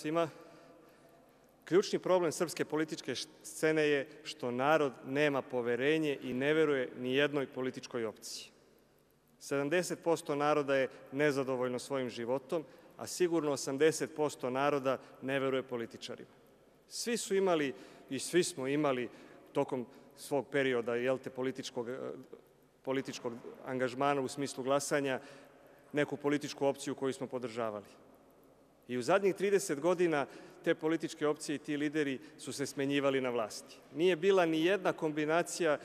svima. Ključni problem srpske političke scene je što narod nema poverenje i ne veruje ni jednoj političkoj opciji. 70% naroda je nezadovoljno svojim životom, a sigurno 80% naroda ne veruje političarima. Svi su imali i svi smo imali tokom svog perioda političkog angažmana u smislu glasanja neku političku opciju koju smo podržavali. I u zadnjih 30 godina te političke opcije i ti lideri su se smenjivali na vlasti. Nije bila ni jedna kombinacija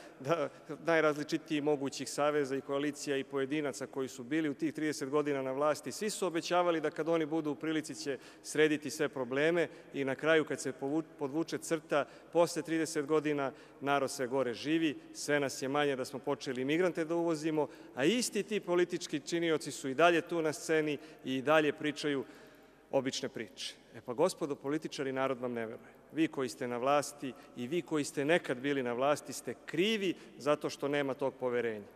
najrazličitijih mogućih saveza i koalicija i pojedinaca koji su bili u tih 30 godina na vlasti. Svi su obećavali da kad oni budu u prilici će srediti sve probleme i na kraju kad se podvuče crta, posle 30 godina narod sve gore živi, sve nas je manje da smo počeli imigrante da uvozimo, a isti ti politički činioci su i dalje tu na sceni i dalje pričaju obične priče. Pa gospodo političari, narod vam ne veruje. Vi koji ste na vlasti i vi koji ste nekad bili na vlasti ste krivi zato što nema tog poverenja.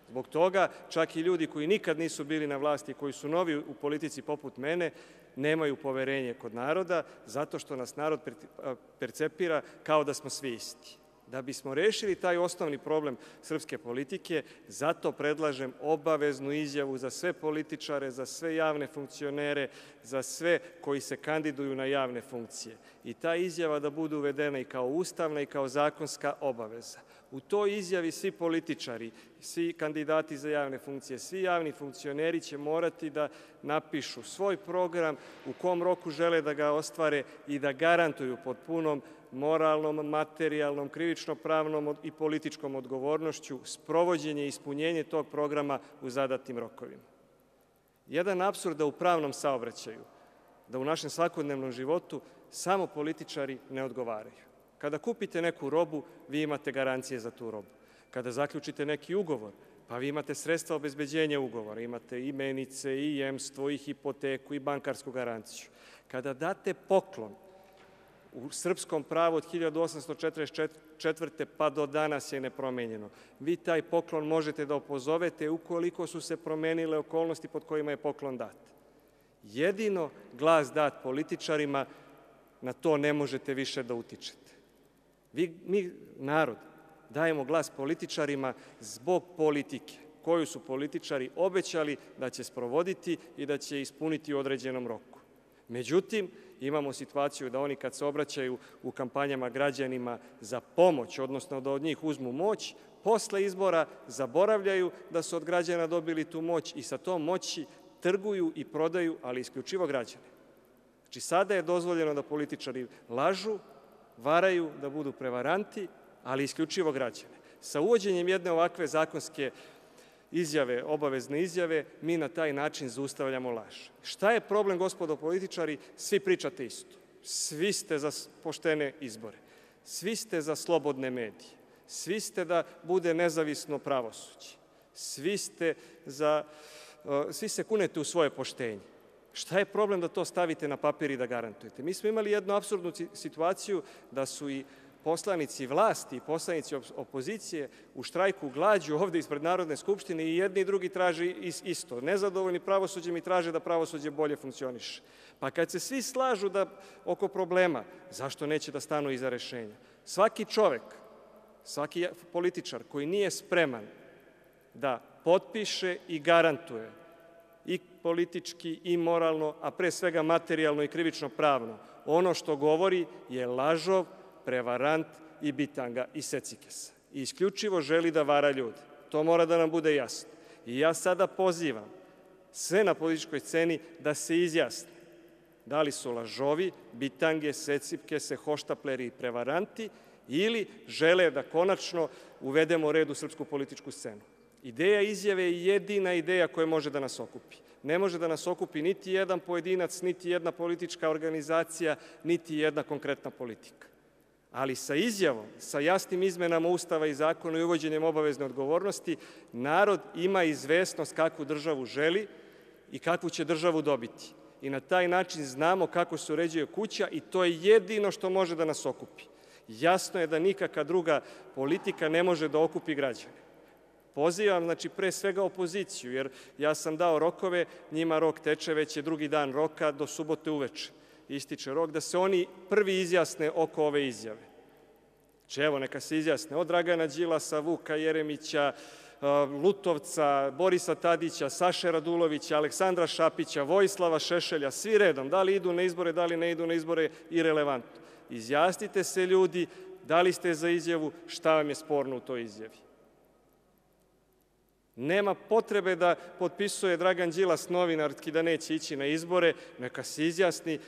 Zbog toga čak i ljudi koji nikad nisu bili na vlasti, koji su novi u politici poput mene, nemaju poverenje kod naroda zato što nas narod percepira kao da smo svi isti. Da bismo rešili taj osnovni problem srpske politike, zato predlažem obaveznu izjavu za sve političare, za sve javne funkcionere, za sve koji se kandiduju na javne funkcije. I ta izjava da bude uvedena i kao ustavna i kao zakonska obaveza. U toj izjavi svi političari, svi kandidati za javne funkcije, svi javni funkcioneri će morati da napišu svoj program, u kom roku žele da ga ostvare i da garantuju pod punom moralnom, materijalnom, krivično-pravnom i političkom odgovornošću sprovođenje i ispunjenje tog programa u zadatim rokovima. Jedan apsurd da u pravnom saobraćaju, da u našem svakodnevnom životu samo političari ne odgovaraju. Kada kupite neku robu, vi imate garancije za tu robu. Kada zaključite neki ugovor, pa vi imate sredstva obezbeđenja ugovora, imate i menice, i jemstvo, i hipoteku, i bankarsku garanciju. Kada date poklon, u srpskom pravu od 1844. pa do danas je nepromenjeno. Vi taj poklon možete da opozovete ukoliko su se promenile okolnosti pod kojima je poklon dat. Jedino glas dat političarima, na to ne možete više da utičete. Mi, narod, dajemo glas političarima zbog politike koju su političari obećali da će sprovoditi i da će ispuniti u određenom roku. Međutim, imamo situaciju da oni kad se obraćaju u kampanjama građanima za pomoć, odnosno da od njih uzmu moć, posle izbora zaboravljaju da su od građana dobili tu moć i sa tom moći trguju i prodaju, ali isključivo građane. Znači, sada je dozvoljeno da političari lažu, varaju, da budu prevaranti, ali isključivo građane. Sa uvođenjem jedne ovakve zakonske izjave, obavezne izjave, mi na taj način zaustavljamo laž. Šta je problem, gospodo političari? Svi pričate isto. Svi ste za poštene izbore. Svi ste za slobodne medije. Svi ste da bude nezavisno pravosuđe. Svi se kunete u svoje poštenje. Šta je problem da to stavite na papir i da garantujete? Mi smo imali jednu apsurdnu situaciju da su i poslanici vlasti i poslanici opozicije u štrajku glađu ovde ispred Narodne skupštine i jedni i drugi traže isto. Nezadovoljni pravosuđem i traže da pravosuđe bolje funkcioniše. Pa kad se svi slažu oko problema, zašto neće da stanu iza rešenja? Svaki čovek, svaki političar koji nije spreman da potpiše i garantuje i politički i moralno, a pre svega materijalno i krivično pravno, ono što govori je lažov, prevarant i bitanga i secikesa. I isključivo želi da vara ljude. To mora da nam bude jasno. I ja sada pozivam sve na političkoj sceni da se izjasne da li su lažovi, bitange, secikese, hoštapleri i prevaranti ili žele da konačno uvedemo red u srpsku političku scenu. Ideja izjave je jedina ideja koja može da nas okupi. Ne može da nas okupi niti jedan pojedinac, niti jedna politička organizacija, niti jedna konkretna politika. Ali sa izjavom, sa jasnim izmenama Ustava i zakona i uvođenjem obavezne odgovornosti, narod ima izvesnost kakvu državu želi i kakvu će državu dobiti. I na taj način znamo kako se uređuje kuća i to je jedino što može da nas okupi. Jasno je da nikakva druga politika ne može da okupi građane. Pozivam, znači, pre svega opoziciju, jer ja sam dao rokove, njima rok teče, već je drugi dan roka do subote uveče. ističe rok, da se oni prvi izjasne oko ove izjave. Znači, evo, neka se izjasne od Dragana Đilasa, Vuka Jeremića, Lutovca, Borisa Tadića, Saše Radulovića, Aleksandra Šapića, Vojislava Šešelja, svi redom, da li idu na izbore, da li ne idu na izbore, irelevantno. Izjasnite se, ljudi, da li ste za izjavu, šta vam je sporno u toj izjavi. Nema potrebe da potpisuje Dragan Đilas novinarski da neće ići na izbore, neka se izjasni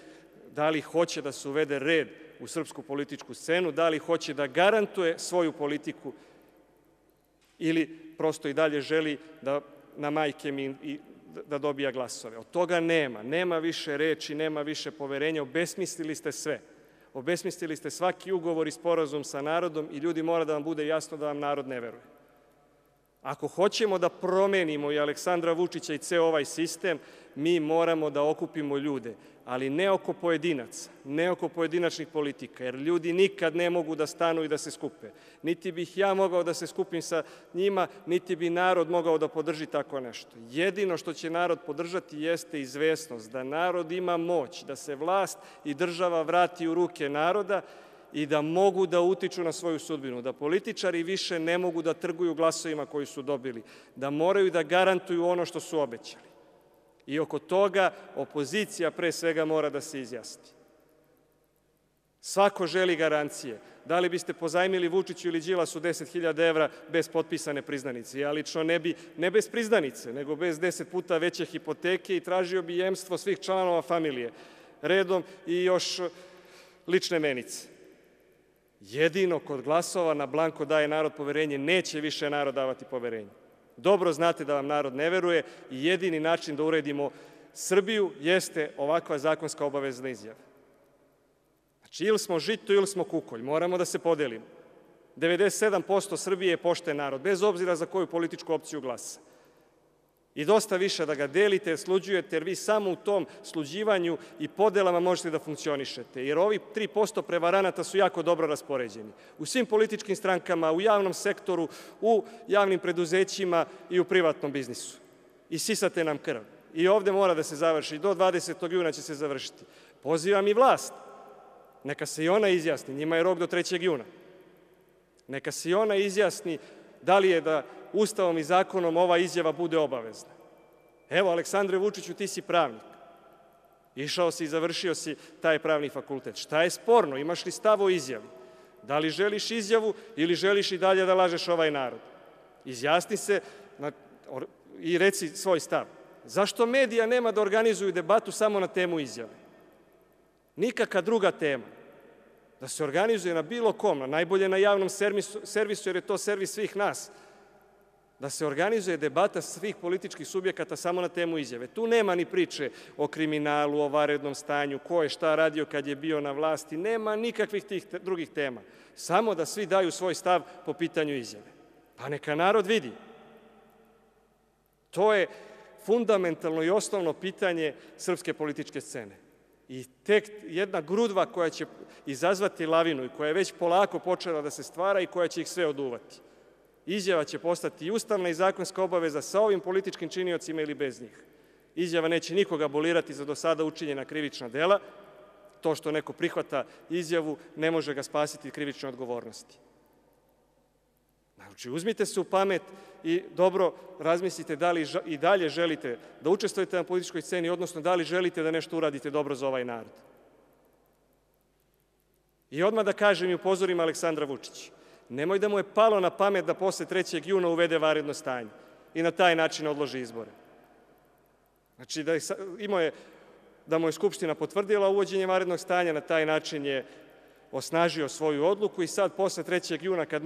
da li hoće da se uvede red u srpsku političku scenu, da li hoće da garantuje svoju politiku ili prosto i dalje želi da na majke mi da dobija glasove. Od toga nema više reči, nema više poverenja, obesmislili ste sve. Obesmislili ste svaki ugovor i sporazum sa narodom i ljudi, mora da vam bude jasno da vam narod ne veruje. Ako hoćemo da promenimo i Aleksandra Vučića i ceo ovaj sistem, mi moramo da okupimo ljude, ali ne oko pojedinaca, ne oko pojedinačnih politika, jer ljudi nikad ne mogu da stanu i da se skupe. Niti bih ja mogao da se skupim sa njima, niti bi narod mogao da podrži tako nešto. Jedino što će narod podržati jeste izvesnost, da narod ima moć, da se vlast i država vrati u ruke naroda i da mogu da utiču na svoju sudbinu, da političari više ne mogu da trguju glasovima koji su dobili, da moraju da garantuju ono što su obećali. I oko toga opozicija pre svega mora da se izjasni. Svako želi garancije. Da li biste pozajmili Vučiću ili Đilasu 10.000 evra bez potpisane priznanice? Ja lično ne bez priznanice, nego bez 10 puta veće hipoteke i tražio bi jemstvo svih članova familije redom i još lične menice. Jedino kod glasova na blanko daje narod poverenje, neće više narod davati poverenje. Dobro znate da vam narod ne veruje i jedini način da uredimo Srbiju jeste ovakva zakonska obavezna izjava. Znači, ili smo žito ili smo kukolj, moramo da se podelimo. 97% Srbije je pošten narod, bez obzira za koju političku opciju glasa. I dosta više da ga delite, sluđujete, jer vi samo u tom sluđivanju i podelama možete da funkcionišete. Jer ovi 3% prevaranata su jako dobro raspoređeni. U svim političkim strankama, u javnom sektoru, u javnim preduzećima i u privatnom biznisu. I sisate nam krv. I ovde mora da se završi. Do 20. juna će se završiti. Pozivam i vlast. Neka se i ona izjasni. Njima je rok do 3. juna. Neka se i ona izjasni da li je da Ustavom i zakonom ova izjava bude obavezna. Evo, Aleksandre Vučiću, ti si pravnik. Išao si i završio si taj pravni fakultet. Šta je sporno? Imaš li stav o izjavi? Da li želiš izjavu ili želiš i dalje da lažeš ovaj narod? Izjasni se i reci svoj stav. Zašto medija nema da organizuju debatu samo na temu izjave? Nikakva druga tema. Da se organizuje na bilo kom, najbolje na javnom servisu, jer je to servis svih nas. Da se organizuje debata svih političkih subjekata samo na temu izjave. Tu nema ni priče o kriminalu, o vanrednom stanju, ko je šta radio kad je bio na vlasti, nema nikakvih tih drugih tema. Samo da svi daju svoj stav po pitanju izjave. Pa neka narod vidi. To je fundamentalno i osnovno pitanje srpske političke scene. I tek jedna grudva koja će izazvati lavinu i koja je već polako počela da se stvara i koja će ih sve oduvati. Izjava će postati i ustavna i zakonska obaveza sa ovim političkim činiocima ili bez njih. Izjava neće nikoga abolirati za do sada učinjena krivična dela. To što neko prihvata izjavu ne može ga spasiti krivične odgovornosti. Znači, uzmite se u pamet i dobro razmislite da li i dalje želite da učestvujete na političkoj sceni, odnosno da li želite da nešto uradite dobro za ovaj narod. I odmah da kažem i upozorim Aleksandra Vučića. Nemoj da mu je palo na pamet da posle 3. juna uvede vanredno stanje i na taj način odloži izbore. Znači, da mu je Skupština potvrdila uvođenje vanrednog stanja, na taj način je osnažio svoju odluku i sad posle 3. juna kad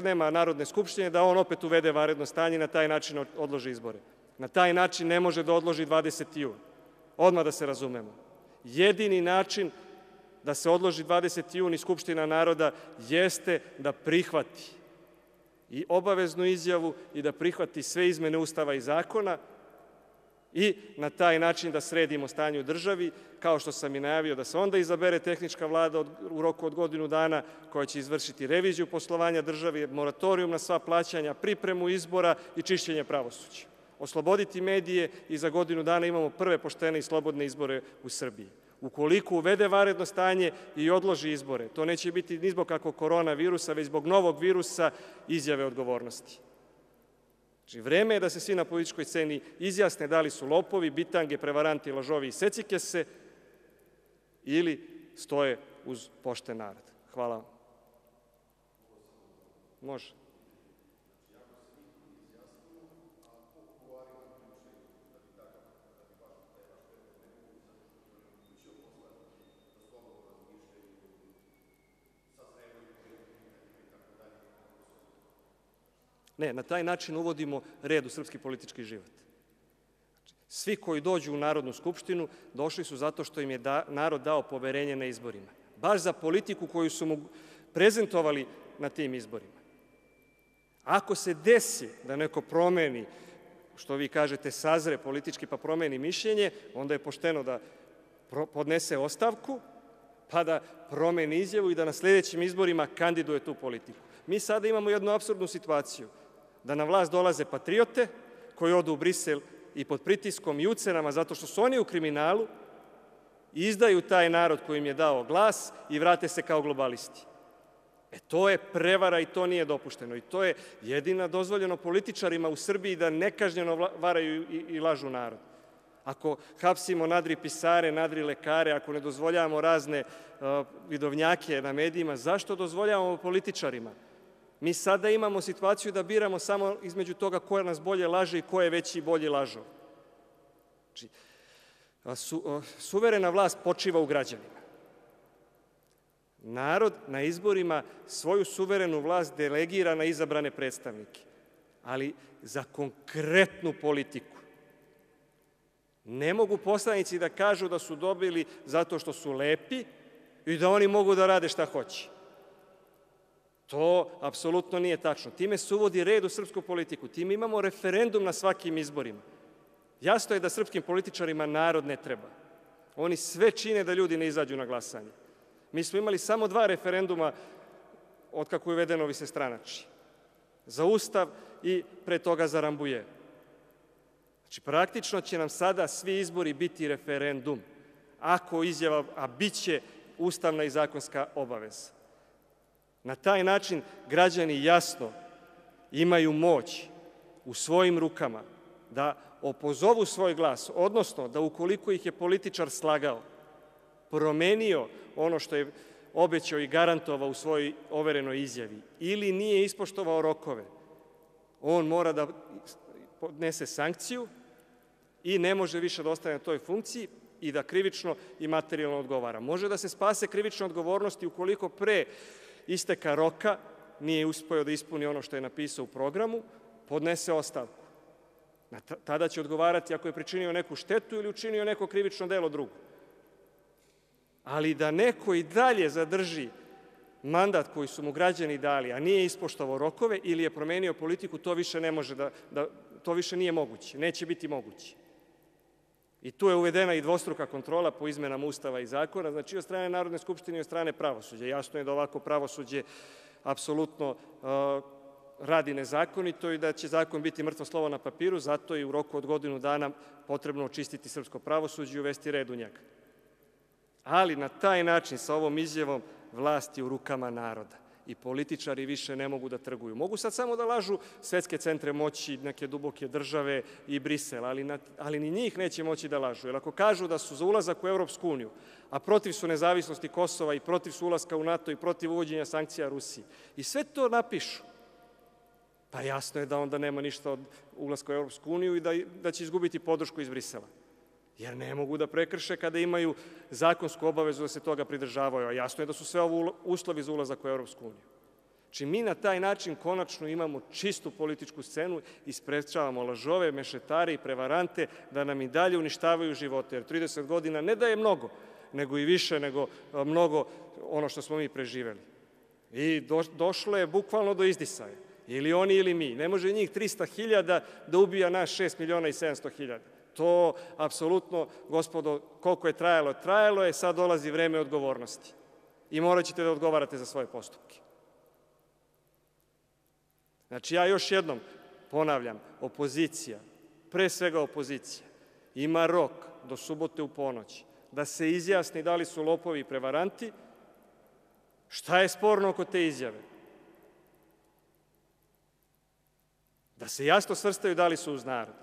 nema Narodne skupštine da on opet uvede vanredno stanje i na taj način odloži izbore. Na taj način ne može da odloži 20. jun. Odmah da se razumemo. Jedini način da se odloži 20. jun i Skupština naroda jeste da prihvati i obaveznu izjavu i da prihvati sve izmene Ustava i zakona i na taj način da sredimo stanje u državi, kao što sam i najavio da se onda izabere tehnička vlada u roku od godinu dana koja će izvršiti reviziju poslovanja države, moratorijum na sva plaćanja, pripremu izbora i čišćenje pravosuđa. Osloboditi medije i za godinu dana imamo prve poštene i slobodne izbore u Srbiji. Ukoliko uvede vanredno stanje i odloži izbore, to neće biti ni zbog kakvog koronavirusa, već zbog novog virusa izjave odgovornosti. Znači, vreme je da se svi na političkoj sceni izjasne da li su lopovi, bitange, prevaranti, lažovi i secikese ili stoje uz pošten narod. Hvala vam. Može. Ne, na taj način uvodimo red u srpski politički život. Svi koji dođu u Narodnu skupštinu došli su zato što im je narod dao poverenje na izborima. Baš za politiku koju su mu prezentovali na tim izborima. Ako se desi da neko promeni, što vi kažete, sazre politički pa promeni mišljenje, onda je pošteno da podnese ostavku, pa da promeni izjavu i da na sledećim izborima kandiduje tu politiku. Mi sada imamo jednu apsurdnu situaciju, da na vlast dolaze patriote koji odu u Brisel i pod pritiskom i ucenama zato što su oni u kriminalu, izdaju taj narod koji im je dao glas i vrate se kao globalisti. To je prevara i to nije dopušteno. I to je jedina dozvoljeno političarima u Srbiji da nekažnjeno varaju i lažu narod. Ako hapsimo nadri pisare, nadri lekare, ako ne dozvoljavamo razne vidovnjake na medijima, zašto dozvoljavamo političarima? Mi sada imamo situaciju da biramo samo između toga ko nas bolje laže i ko je veći i bolji lažov. Znači, suverena vlast počiva u građanima. Narod na izborima svoju suverenu vlast delegira na izabrane predstavnike, ali za konkretnu politiku. Ne mogu poslanici da kažu da su dobili zato što su lepi i da oni mogu da rade šta hoće. To apsolutno nije tačno. Time se uvodi red u srpsku politiku. Time imamo referendum na svakim izborima. Jasno je da srpskim političarima narod ne treba. Oni sve čine da ljudi ne izađu na glasanje. Mi smo imali samo 2 referenduma od kako je uvedeno višestranačje. Za Ustav i pre toga za Rambuje. Znači, praktično će nam sada svi izbori biti referendum. Ako izjava, a bit će ustavna i zakonska obaveza. Na taj način građani jasno imaju moć u svojim rukama da opozovu svoj glas, odnosno da ukoliko ih je političar slagao, promenio ono što je obećao i garantovao u svojoj overenoj izjavi ili nije ispoštovao rokove, on mora da podnese sankciju i ne može više da ostane na toj funkciji i da krivično i materijalno odgovara. Može da se spase krivične odgovornosti ukoliko pre isteka roka nije uspeo da ispuni ono što je napisao u programu, podnese ostavku. Tada će odgovarati ako je pričinio neku štetu ili učinio neko krivično delo drugo. Ali da neko i dalje zadrži mandat koji su mu građani dali, a nije ispoštovao rokove ili je promenio politiku, to više ne može to više nije moguće, neće biti moguće. I tu je uvedena i dvostruka kontrola po izmenama Ustava i zakona, znači od strane Narodne skupštine i od strane pravosuđa. Jasno je da ovako pravosuđe apsolutno radi nezakonito i da će zakon biti mrtvo slovo na papiru, zato je u roku od godinu dana potrebno očistiti srpsko pravosuđe i uvesti red u njega. Ali na taj način, sa ovom izjavom, vlast je u rukama naroda i političari više ne mogu da trguju. Mogu sad samo da lažu svetske centre moći, neke duboke države i Brisel, ali ni njih neće moći da lažu. Jer ako kažu da su za ulazak u Evropsku uniju, a protiv su nezavisnosti Kosova i protiv su ulaska u NATO i protiv uvođenja sankcija Rusiji, i sve to napišu, pa jasno je da onda nema ništa od ulaska u Evropsku uniju i da će izgubiti podršku iz Brisela. Jer ne mogu da prekrše kada imaju zakonsku obavezu da se toga pridržavaju, a jasno je da su sve ovo uslovi za ulazak u Evropsku uniju. Znači, mi na taj način konačno imamo čistu političku scenu i sprečavamo lažove, mešetare i prevarante da nam i dalje uništavaju živote, jer 30 godina ne da je mnogo, nego i više nego mnogo ono što smo mi preživeli. I došlo je bukvalno do izdisaja. Ili oni ili mi. Ne može njih 300.000 da ubija nas 6.700.000. To apsolutno, gospodo, koliko je trajalo, trajalo je, sad dolazi vreme odgovornosti. I morat ćete da odgovarate za svoje postupke. Znači, ja još jednom ponavljam, opozicija, pre svega opozicija, ima rok do subote u ponoć da se izjasni da li su lopovi i prevaranti. Šta je sporno oko te izjave? Da se jasno svrstaju da li su uz narod.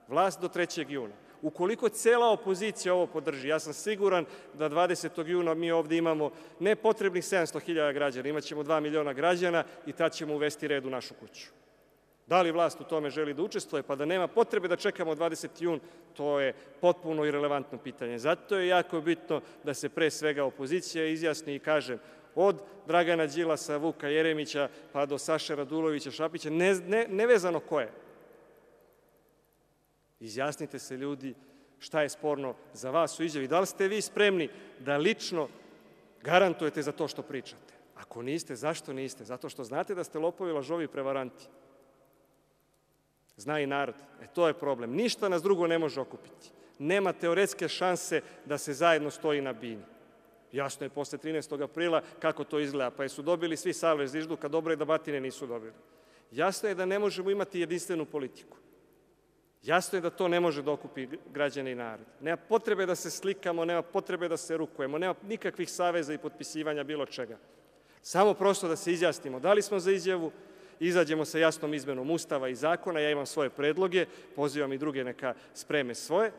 Vlast do 3. juna. Ukoliko cela opozicija ovo podrži, ja sam siguran da 20. juna mi ovde imamo nepotrebnih 700.000 građana, imaćemo 2 miliona građana i tad ćemo uvesti red u našu kuću. Da li vlast u tome želi da učestvuje, pa da nema potrebe da čekamo 20. jun, to je potpuno irelevantno pitanje. Zato je jako bitno da se pre svega opozicija izjasni i kaže od Dragana Đilasa, Vuka Jeremića, pa do Saše Radulovića, Šapića, nevezano ko je. Izjasnite se, ljudi, šta je sporno za vas u izjavi. Da li ste vi spremni da lično garantujete za to što pričate? Ako niste, zašto niste? Zato što znate da ste lopovi, lažovi i prevaranti. Zna i narod. To je problem. Ništa nas drugo ne može okupiti. Nema teoretske šanse da se zajedno stoji na bini. Jasno je posle 13. aprila kako to izgleda, pa jesu dobili svi savez zvižduka, dobro je da batine nisu dobili. Jasno je da ne možemo imati jedinstvenu politiku. Jasno je da to ne može da okupi građane i narod. Nema potrebe da se slikamo, nema potrebe da se rukujemo, nema nikakvih saveza i potpisivanja bilo čega. Samo prosto da se izjasnimo da li smo za izjavu, izađemo sa jasnom izmenom Ustava i zakona, ja imam svoje predloge, pozivam i druge neka spreme svoje,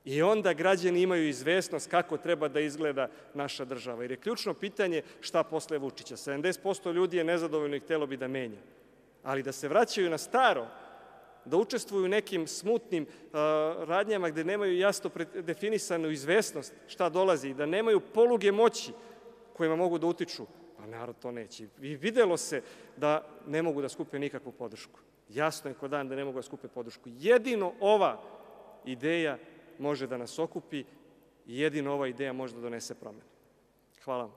i onda građani imaju izvesnost kako treba da izgleda naša država. Jer je ključno pitanje šta posle Vučića. 70% ljudi je nezadovoljno i htelo bi da menja. Ali da se vraćaju na staro, da učestvuju u nekim smutnim radnjama gde nemaju jasno definisanu izvesnost šta dolazi i da nemaju poluge moći kojima mogu da utiču, a narod to neće. I videlo se da ne mogu da skupe nikakvu podršku. Jasno je ko dan da ne mogu da skupe podršku. Jedino ova ideja može da nas okupi i jedino ova ideja može da donese promene. Hvala vam.